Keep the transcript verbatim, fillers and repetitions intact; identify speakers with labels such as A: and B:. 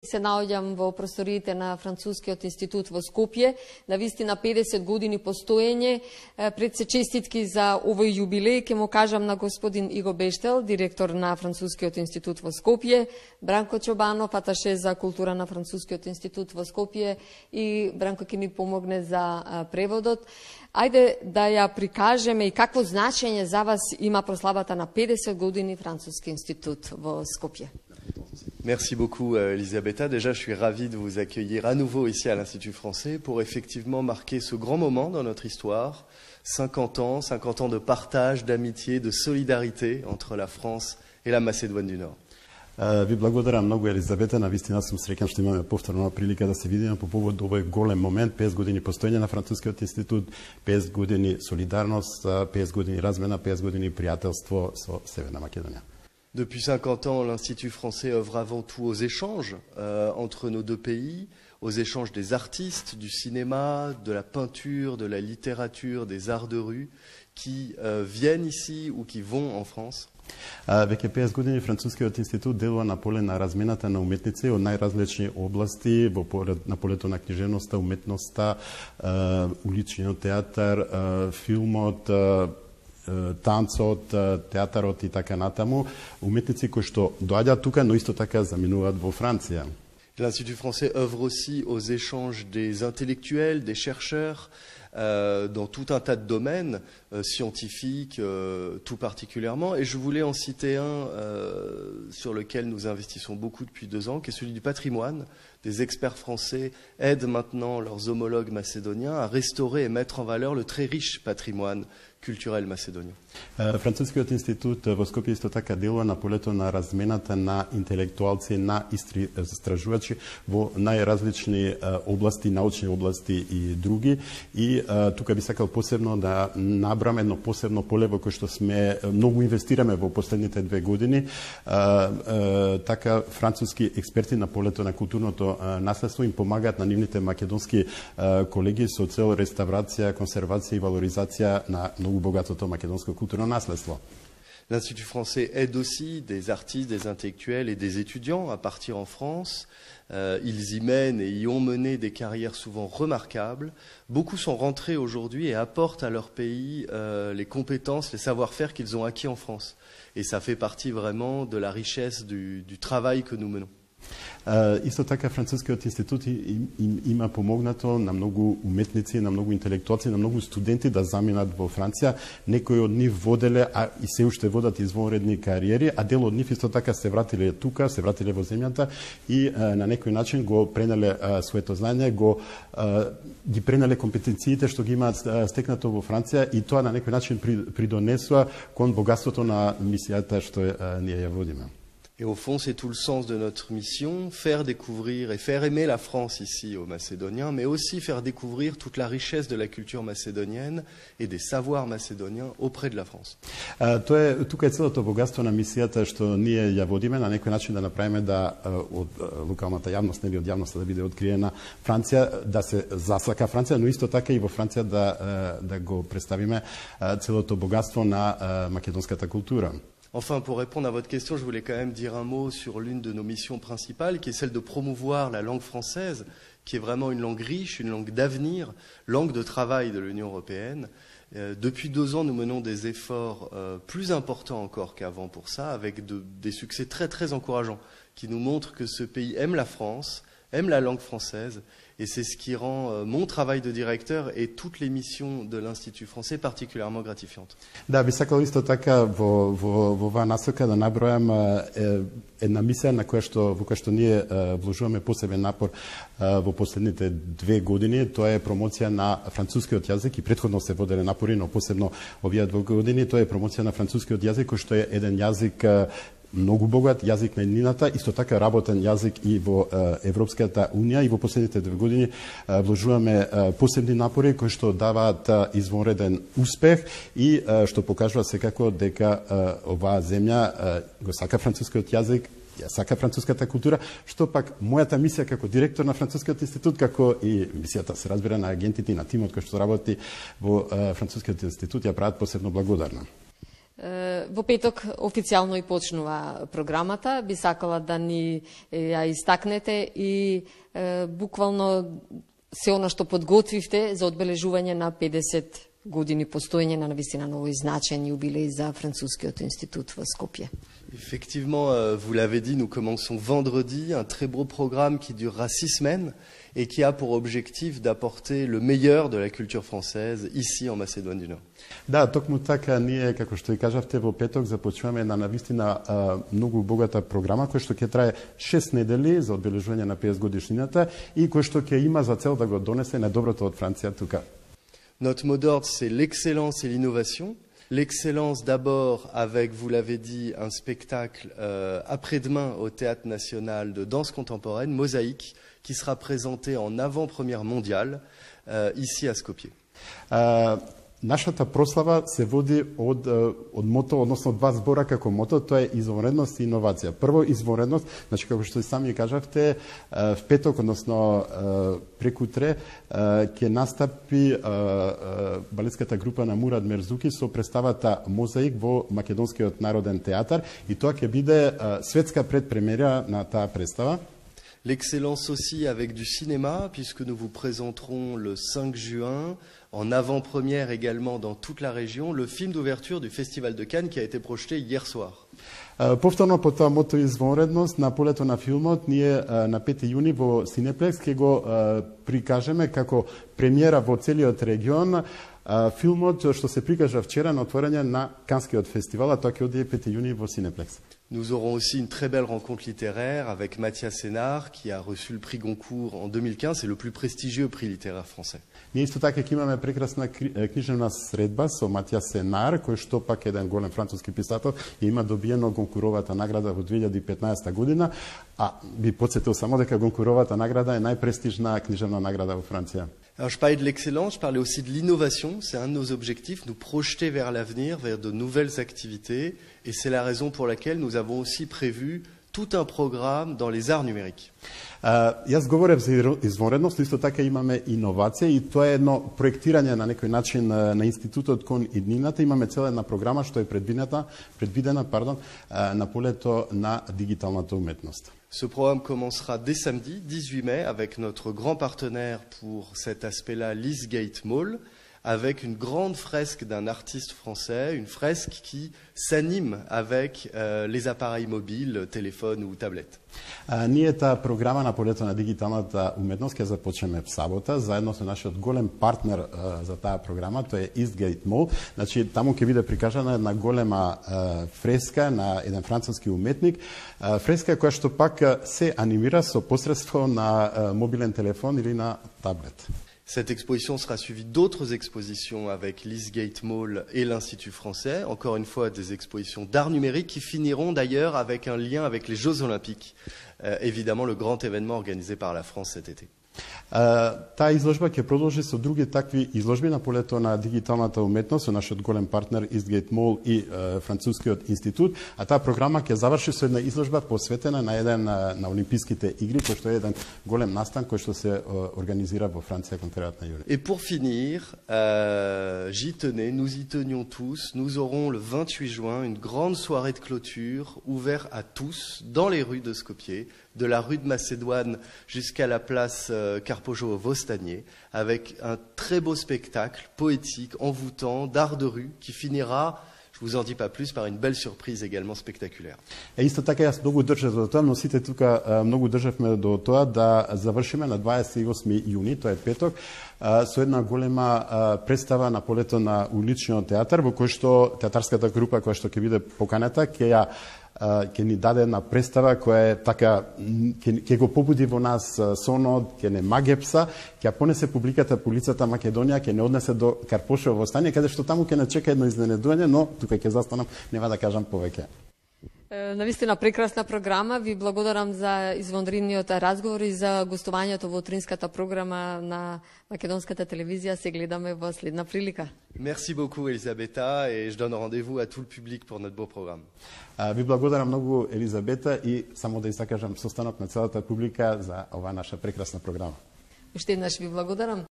A: Се наоѓам во просториите на Францускиот институт во Скопје, на вистина педесет години постоење. Пред се честитки за овој јубилеј ќе му кажам на господин Иго Бештел, директор на Францускиот институт во Скопје, Бранко Чобанов, аташе за култура на Францускиот институт во Скопје, и Бранко ќе ни помогне за преводот. Ајде да ја прикажеме и какво значење за вас има прославата на педесет години Француски институт во Скопје.
B: Merci beaucoup, Elisabetta. Déjà, je suis ravi de vous accueillir à nouveau ici à l'Institut français pour effectivement marquer ce grand moment dans notre histoire. cinquante ans, cinquante ans de partage, d'amitié, de solidarité entre la France et la Macédoine du Nord.
C: Ви благодарам многу, Елизавета. Навистина сум среќан што имаме повторна прилика да се видиме по повод овој голем момент, педесет години постоење на Францускиот институт, педесет години солидарност, педесет години размена, педесет години пријателство со Северна Македонија.
B: Depuis cinquante ans, l'Institut français œuvre avant tout aux échanges euh, entre nos deux pays, aux échanges des artistes, du cinéma, de la peinture, de la littérature, des arts de rue, qui euh, viennent ici ou qui vont en France.
C: Веќе педесет години Францускиот институт делува на поле на размената на уметници од најразлични области, во на полето на книжевноста, уметноста, уличниот театар, филмот, танцот, театарот и така натаму, уметници кои што доаѓаат тука, но исто така заминуваат во Франција.
B: L'Institut français œuvre aussi aux échanges des intellectuels, des chercheurs, euh, dans tout un tas de domaines, euh, scientifiques euh, tout particulièrement. Et je voulais en citer un euh, sur lequel nous investissons beaucoup depuis deux ans, qui est celui du patrimoine. Des experts français aident maintenant leurs homologues macédoniens à restaurer et mettre en valeur le très riche patrimoine culturel macédonien.
C: Францускиот институт во Скопје исто така делува на полето на размената на интелектуалци, на истражувачи во најразлични области, научни области и други. И тука би сакал посебно да набрам едно посебно поле во кое што сме многу инвестираме во последните две години. Така француски експерти на полето на културното наследство им помагаат на нивните македонски колеги со цел реставрација, консервација и валоризација на многу богатото македонско културно наследство.
B: L'Institut français aide aussi des artistes, des intellectuels et des étudiants à partir en France. Euh, ils y mènent et y ont mené des carrières souvent remarquables. Beaucoup sont rentrés aujourd'hui et apportent à leur pays euh, les compétences, les savoir-faire qu'ils ont acquis en France. Et ça fait partie vraiment de la richesse du, du travail que nous menons.
C: Uh, исто така Францускиот институт им, им, има помогнато на многу уметници, на многу интелектуалци, на многу студенти да заминат во Франција. Некои од нив воделе, а и се уште водат извонредни кариери, а дел од нив исто така се вратиле тука, се вратиле во земјата и uh, на некој начин го пренеле uh, своето знаење, го uh, ги пренеле компетенциите што ги имаат uh, стекнато во Франција, и тоа на некој начин придонесува кон богатството на мисијата што uh, ние ја водиме.
B: Et au fond, c'est tout le sens de notre mission, faire découvrir et faire aimer la France ici aux Macédoniens, mais aussi faire découvrir toute la richesse de la culture macédonienne et des savoirs macédoniens auprès de la France.
C: Uh, тоа е тука е целото богатство на мисијата што ние ја водиме, на некој начин да направиме да uh, од uh, локалната јавност, нели од јавноста да биде откриена Франција, да се засака Франција, но исто така и во Франција да uh, да го представиме uh, целото богатство на uh, македонската култура.
B: Enfin, pour répondre à votre question, je voulais quand même dire un mot sur l'une de nos missions principales, qui est celle de promouvoir la langue française, qui est vraiment une langue riche, une langue d'avenir, langue de travail de l'Union européenne. Euh, depuis deux ans, nous menons des efforts euh, plus importants encore qu'avant pour ça, avec de, des succès très très encourageants, qui nous montrent que ce pays aime la France, aime la langue française, et c'est ce qui rend euh, mon travail de directeur et toutes les missions de l'Institut français particulièrement gratifiantes.
C: Да, би сакал исто така во во во оваа насока да набројам е, една мисија на која што во која што ние е, вложуваме посебен напор е, во последните две години. Тоа е промоција на францускиот јазик, и претходно се воделе напори, но посебно овие две години тоа е промоција на францускиот јазик, кој што е еден јазик многу богат, јазик на еднината, исто така работен јазик и во Европската Унија, и во последните две години вложуваме посебни напори кои што даваат извонреден успех и што покажува секако дека оваа земја го сака францускиот јазик, ја сака француската култура, што пак мојата мисија како директор на Францускиот институт, како и мисијата се разбира на агентите и на тимот кој што работи во Францускиот институт, ја прават посебно благодарна.
A: Во петок официјално и почнува програмата. Би сакала да ни ја истакнете и е, буквално се она што подготвивте за одбележување на педесет години постоење на навистина на овој значаен јубилеј за Францускиот институт во Скопје.
B: Effectivement, euh, vous l'avez dit, nous commençons vendredi un très beau programme qui durera six semaines et qui a pour objectif d'apporter le meilleur de la culture française ici en Macédoine du Nord.
C: Да, токму така ние, како што и кажавте, во петок започнуваме една навистина многу богата програма која што ќе трае шест недели за одбележување на педесет годишнината и која што ќе има за цел да го донесе најдоброто од Франција тука.
B: Notre mot d'ordre, c'est l'excellence et l'innovation. L'excellence d'abord avec, vous l'avez dit, un spectacle euh, après-demain au Théâtre National de danse contemporaine, Mosaïque, qui sera présenté en avant-première mondiale euh, ici à Skopje. Uh,
C: Нашата прослава се води од, од мото, односно два збора како мото, тоа е извонредност и иновација. Прво, извонредност, значи како што и сами кажавте, в петок, односно прекутре, ќе настапи балетската група на Мурад Мерзуки со представата Мозаик во Македонскиот народен театар и тоа ќе биде светска предпремиера на таа представа.
B: L'excellence aussi avec du cinéma, puisque nous vous présenterons le cinq juin, en avant-première également dans toute la région, le film d'ouverture du Festival de Cannes qui a été projeté hier soir.
C: Повторно по тоа мото извонредност на полето на филмот, ние на пети јуни во Синеплекс ќе го прикажеме како премиера во целиот регион филмот што се прикажа вчера на отворање на Канскиот фестивал, а тоа ќе оди пети јуни во Синеплекс.
B: Nous aurons aussi une très belle rencontre littéraire avec Mathias Sénard, qui a reçu le prix Goncourt en deux mille quinze, c'est le plus prestigieux prix littéraire français.
C: Ние исто така ќе имаме прекрасна книжевна средба со Матијас Сенар, кој што пак еден голем француски писател и има добиено Гонкуровата награда во две илјади и петнаесета година, а би подсетил само дека Гонкуровата награда е најпрестижна книжевна награда во Франција.
B: Alors, je parlais de l'excellence, je parlais aussi de l'innovation. C'est un de nos objectifs, nous projeter vers l'avenir, vers de nouvelles activités. Et c'est la raison pour laquelle nous avons aussi prévu tout un programme dans les arts numériques.
C: Uh, јас говорев за извонредност, исто така имаме иновација и тоа е едно проектирање на некој начин на институтот кон иднината. Имаме цела една програма што е предвидена, предвидена пардон, на полето на дигиталната уметност.
B: Ce programme commencera dès samedi, dix-huit mai, avec notre grand partenaire pour cet aspect-là, l'Eastgate Mall, avec une grande fresque d'un artiste français, une fresque qui s'anime avec euh, les appareils mobiles, téléphones ou tablettes.
C: А, ние таа програма на полето на дигиталната уметност ќе започнеме в сабота, заедно со нашиот голем партнер а, за таа програма, тоа е Eastgate Mall. Значи, таму ќе биде прикажана една голема а, фреска на еден француски уметник, а, фреска која што пак се анимира со посредство на а, мобилен телефон или на таблет.
B: Cette exposition sera suivie d'autres expositions avec l'Eastgate Mall et l'Institut français, encore une fois des expositions d'art numérique qui finiront d'ailleurs avec un lien avec les Jeux Olympiques, euh, évidemment le grand événement organisé par la France cet été.
C: Таа изложба ќе продолжи со други такви изложби на полето на дигиталната уметност со нашиот голем партнер Eastgate Mall и uh, Францускиот институт, а таа програма ќе заврши со една изложба посветена на еден на, на Олимписките игри, кој што е еден голем настан кој што се uh, организира во Франција кон крајот на јули.
B: Et pour finir, euh, j'y tenais, nous y tenions tous, nous aurons le vingt-huit juin une grande soirée de clôture ouverte à tous dans les rues de Skopje, de la rue de Macédoine jusqu'à la place euh, Carpojo au Vostanier, avec un très beau spectacle poétique, envoûtant, d'art de rue, qui finira, je vous en dis pas plus, par une belle surprise également spectaculaire.
C: Е, исто така јас многу држав за тоа, но сите тука многу државме до тоа да завршиме на дваесет и осми јуни, тоа е петок, со една голема представа на полето на уличниот театар, во кој што театарската група која што ќе биде поканета, ќе ја ќе ни даде една представа која е така, ќе го побуди во нас сонот, ќе не магепса, ќе понесе публиката по лицата Македонија, ќе не однесе до Карпошево Стање, каде што таму ќе не чека едно изненадување, но тука ќе застанам, нема да кажам повеќе.
A: Навистина прекрасна програма. Ви благодарам за извонредниот разговор и за гостувањето во утринската програма на Македонската телевизија. Се гледаме во следна прилика.
B: Merci beaucoup Elisabetta et je donne rendez-vous à tout le public pour notre beau programme.
C: Ви благодарам многу Елизабета и само да истакажам состанок на целата публика за оваа наша прекрасна програма.
A: Уште еднаш ви благодарам.